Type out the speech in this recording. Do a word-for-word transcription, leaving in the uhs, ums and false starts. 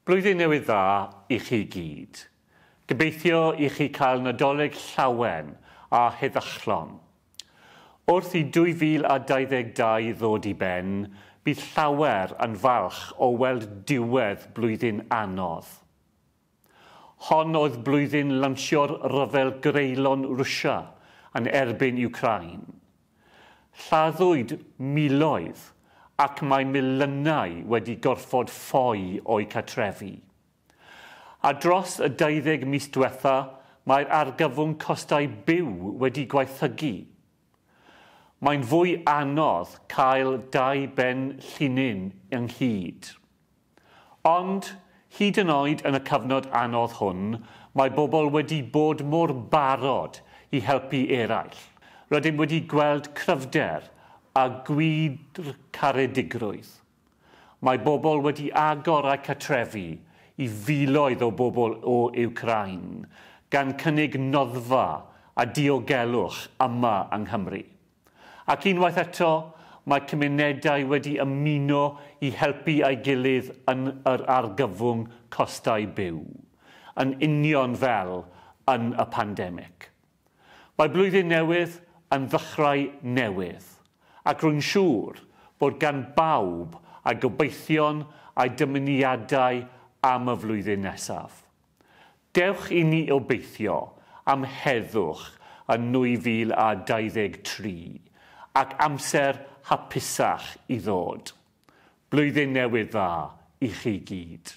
Blwyddyn Newydd Dda i chi gyd. Gobeithio i chi cael Nadolig llawen a heddychlon. Wrth i dwy fil a dau ddeg dau ddod i ben, bydd llawer yn falch o weld diwedd blwyddyn anodd. Hon oedd blwyddyn lansio'r rhyfel greulon Rwsia yn erbyn Ukraine. Lladdwyd miloedd ac mae miliynau wedi gorfod ffoi o'u cartrefi. A dros y deuddeg mis diwetha, mae'r argyfwng costau byw wedi gwaethygu. Mae'n fwy anodd cael dau ben llinyn ynghyd. Ond, hyd yn oed yn y cyfnod anodd hwn, mae bobl wedi bod mor barod i helpu eraill. Rydym wedi gweld cryfder a gwydr caredigrwydd. Mae bobl wedi agor eu cartrefi i filoedd o bobl o Ukraine, gan cynnig noddfa a diogelwch yma yng Nghymru. Ac unwaith eto, mae cymunedau wedi ymuno i helpu ei gilydd yn yr argyfwng costau byw, yn union fel yn y pandemig. Mae blwyddyn newydd yn ddechrau newydd, ac rwy'n siŵr bod gan bawb a gobeithion a'i dymuniadau am y flwyddyn nesaf. Dewch i ni obeithio am heddwch yn nwy fil a dau ddeg tri ac amser hapusach i ddod. Blwyddyn newydd dda i chi gyd.